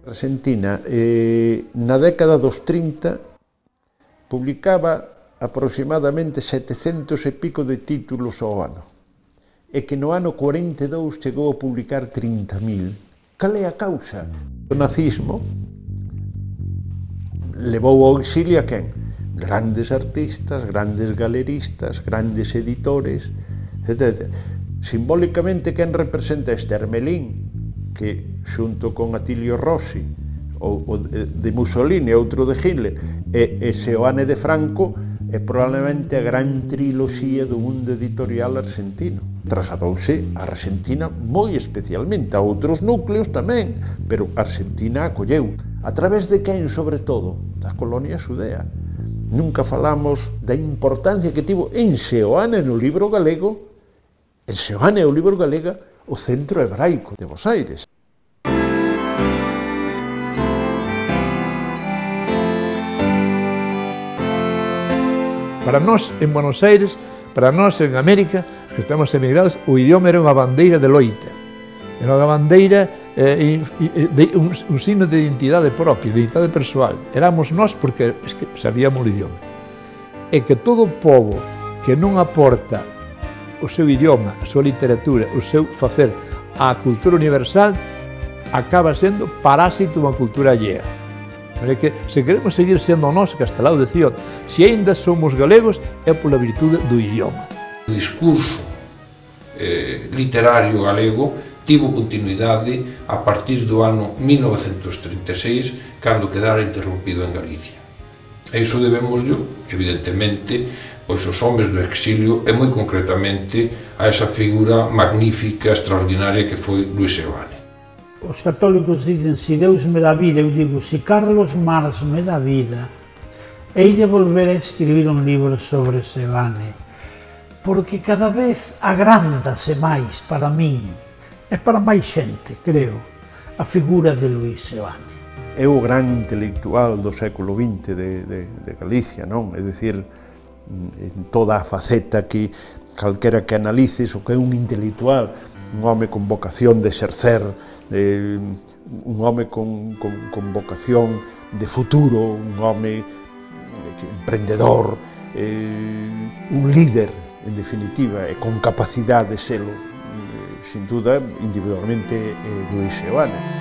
Argentina, na década dos 30, publicaba aproximadamente 700 e pico de títulos ao ano, e que no ano 42 chegou a publicar 30.000. Cal é a causa? O nazismo levou ao exilio a quen? Grandes artistas, grandes galeristas, grandes editores, etc. Simbólicamente, quen representa este? Hermelín, que xunto con Attilio Rossi, o de Mussolini, outro de Hitler, e Seoane de Franco, é probablemente a gran triloxía do mundo editorial argentino. Trasladouse a Argentina moi especialmente, a outros núcleos tamén, pero Argentina acolleu. A través de quen, sobre todo? Da colonia xudea. Nunca falamos da importancia que tivo en Seoane no libro galego, en Seoane o libro galega, o Centro Hebraico de Bos Aires. Para nós, en Buenos Aires, para nós, en América, que estamos emigrados, o idioma era unha bandeira de loita. Era unha bandeira, un signo de identidade propia, de identidade persoal. Éramos nós porque sabíamos o idioma. E que todo o povo que non aporta o seu idioma, a súa literatura, o seu facer á cultura universal, acaba sendo parásito dunha cultura allea. É que, se queremos seguir sendo nós, Castelao decía, se aínda somos galegos, é pola virtude do idioma. O discurso literario galego tivo continuidade a partir do ano 1936, cando quedara interrompido en Galicia. E iso debémoslo, evidentemente, pois os homes do exilio e moi concretamente a esa figura magnífica, extraordinaria que foi Luis Seoane. Os católicos dicen, se Deus me dá vida, eu digo, se Carlos Marx me dá vida, hei de volver a escribir un libro sobre Seoane, porque cada vez agrándase máis para min, e para máis xente, creo, a figura de Luis Seoane. É o gran intelectual do século XX de Galicia, non? É dicir, en toda a faceta que calquera que analices o que é un intelectual, un home con vocación de exercer, un home con vocación de futuro, un home emprendedor, un líder, en definitiva, e con capacidade de selo, sin duda, individualmente, Luis Seoane.